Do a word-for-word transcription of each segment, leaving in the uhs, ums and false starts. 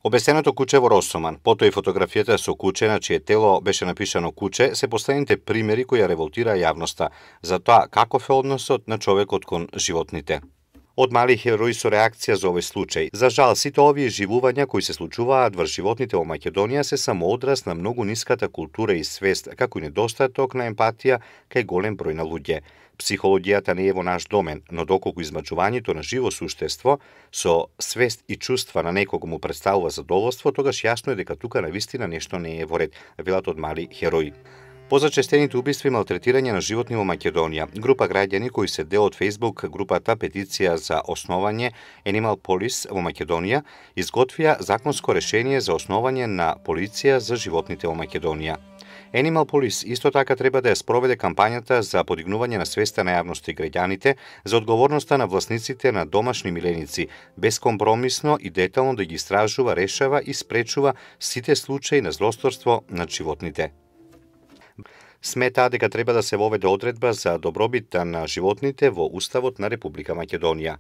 Обесеното куче во Росоман, потоа и фотографијата со куче на чие тело беше напишано куче, се последните примери кои ја револтираа јавноста за тоа каков е односот на човекот кон животните. Од мали херои со реакција за овој случај. За жал, сите овие живувања кои се случуваат врз животните во Македонија се само одраз на многу ниската култура и свест, како и недостаток на емпатија кај голем број на луѓе. Психологијата не е во наш домен, но доколку измачувањето на живо суштество со свест и чувства на некого му представува задоволство, тогаш јасно е дека тука навистина нешто не е во ред, велат од мали херои. Позачестените убиства и малтретирање на животни во Македонија, група граѓани кои се дел од Facebook групата Петиција за основање Animal Police во Македонија, изготвија законско решение за основање на полиција за животните во Македонија. Animal Police исто така треба да ја спроведе кампањата за подигнување на свеста на јавноста и граѓаните за одговорноста на власниците на домашни миленици, безкомпромисно и детално да ги истражува, решава и спречува сите случаи на злосторство над животните. Сметаа дека треба да се воведе одредба за добробит на животните во Уставот на Република Македонија.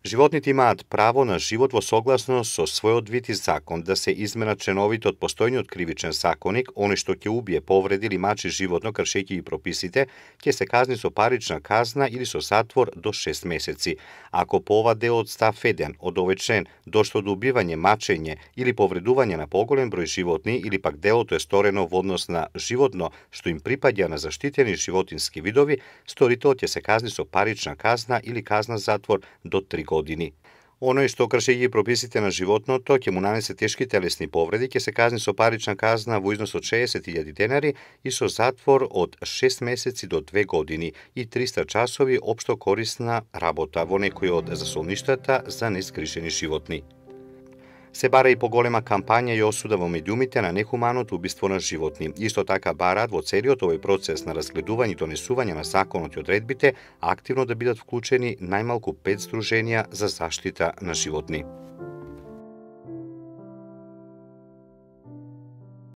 Животните имаат право на живот во согласно со својот вид и закон, да се изменат членовите од постојниот кривичен законник, оној што ќе убие, повреди или мачи животно кршејќи ги прописите, ќе се казни со парична казна или со затвор до шест месеци. Ако по ова дел од став еден од овој член дошло до убивање, мачење или повредување на поголем број животни или пак делото е сторено во однос на животно што им припаѓа на заштитени животински видови, сторителот ќе се казни со парична казна или казна затвор до три години. Оној што кршејќи прописите на животното ќе му нанесе тешки телесни повреди, ќе се казни со парична казна во износ од шеесет илјади денари и со затвор од шест месеци до две години и триста часови општо корисна работа во некој од засолништата за незгрижени животни. Се бара и поголема кампања и осуда во медиумите на нехуманото убиство на животни. Исто така бараат во целиот овој процес на разгледување и донесување на законот и одредбите активно да бидат вклучени најмалку пет здруженија за заштита на животни.